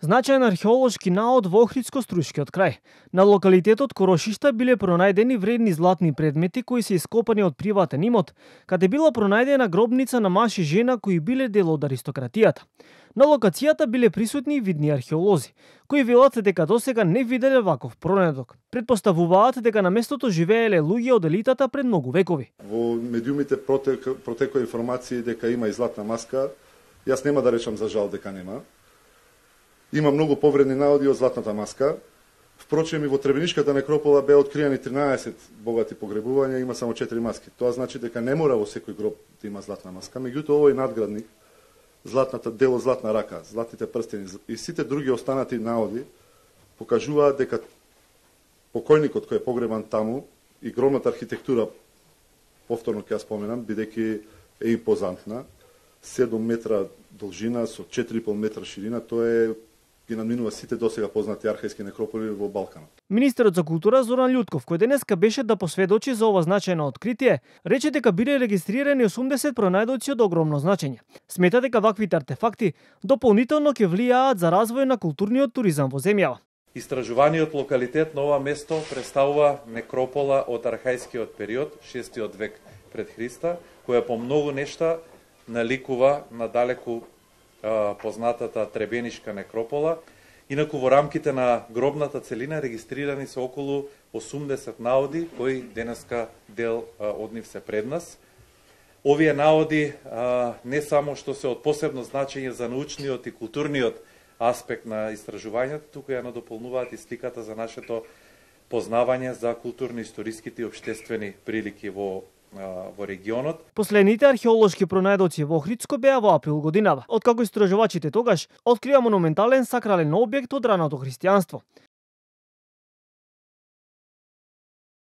Значајен археолошки наод во Охридско-Струшкиот крај. На локалитетот Корошишта биле пронајдени вредни златни предмети кои се ископани од приватен имот, каде била пронајдена гробница на маж и жена кои биле дел од аристократијата. На локацијата биле присутни и видни археолози, кои велат дека досега не виделе ваков пронедок. Предпоставуваат дека на местото живееле луѓе од елитата пред многу векови. Во медиумите протекоа информации дека има и златна маска. Јас нема да речам за жал дека нема. Има многу повредни наоди од златната маска. Впрочем, и во Требенишката некропола беа откриени 13 богати погребувања, има само 4 маски. Тоа значи дека не мора во секој гроб да има златна маска. Меѓутоа, овој надградник, златната дело златна рака, златните прстени и сите други останати наоди покажуваат дека покојникот кој е погребан таму и гробната архитектура, повторно ќе ја споменам, бидејќи е импозантна, 7 метра должина со 4,5 метра ширина, тоа е ги надминува сите досега познати архајски некрополи во Балканот. Министерот за култура Зоран Љутков, кој денеска беше да посведочи за ова значајно откритие, рече дека биле регистрирани 80 пронајдоци од огромно значење. Смета дека ваквите артефакти дополнително ќе влијаат за развој на културниот туризам во земјава. Истражуваниот локалитет на ова место представува некропола од архајскиот период, 6 век пред Христа, која по многу нешта наликува на далеку познатата Требенишка некропола. Инаку во рамките на гробната целина регистрирани се околу 80 наоди, кои денеска дел од нив се пред нас. Овие наоди не само што се од посебно значење за научниот и културниот аспект на истражувањето, туку ја надополнуваат и сликата за нашето познавање за културно-историските и обштествени прилики во регионот. Последните археолошки пронајдоци во Охридско беа во април годинава, откако истражувачите тогаш открија монументален сакрален објект од раното христијанство.